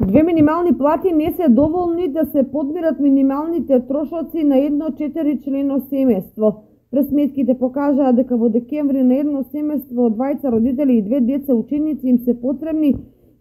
Две минимални плати не се доволни да се подмират минималните трошоци на едно 4-члено семејство. Пресметките покажаа дека во декември на едно семејство од двајца родители и две деца ученици им се потребни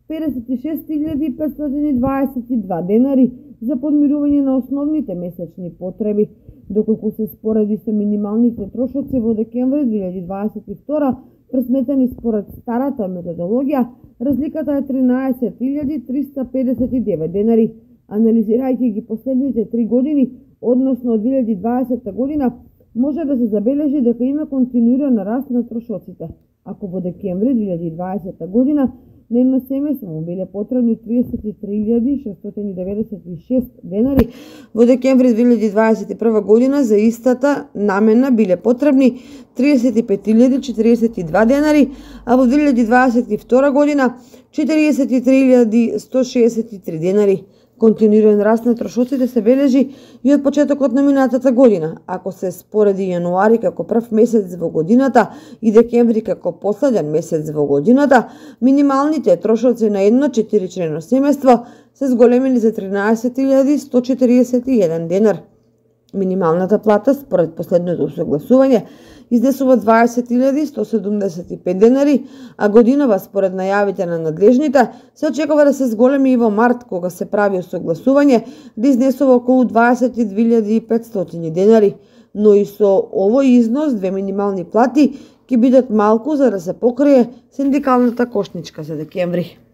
56.522 денари за подмирување на основните месечни потреби, доколку се спореди со минималните трошоци во декември 2022, пресметени според старата методологија, разликата е 13.359 денари. Анализирајќи ги последните 3 години, односно од 2020 година, може да се забележи дека има континуиран раст на трошоците. Ако во декември 2020 година на едно семејство му биле потребни 33.696 денари, во декември 2021 година за истата намена биле потребни 35.042 денари, а во 2022 година 43.163 денари. Континуиран раст на трошоците се бележи и од почетокот на минатата година. Ако се спореди јануари како прв месец во годината и декември како последен месец во годината, минималните трошоци на едно 4-члено семејство се зголемени за 13.141 денар. Минималната плата според последното усогласување изнесува 20.175 денари, а годинова според најавите на надлежните се очекува да се зголеми и во март, кога се прави усогласување, да изнесува околу 22.500 денари. Но и со овој износ две минимални плати ќе бидат малку за да се покрие синдикалната кошничка за декември.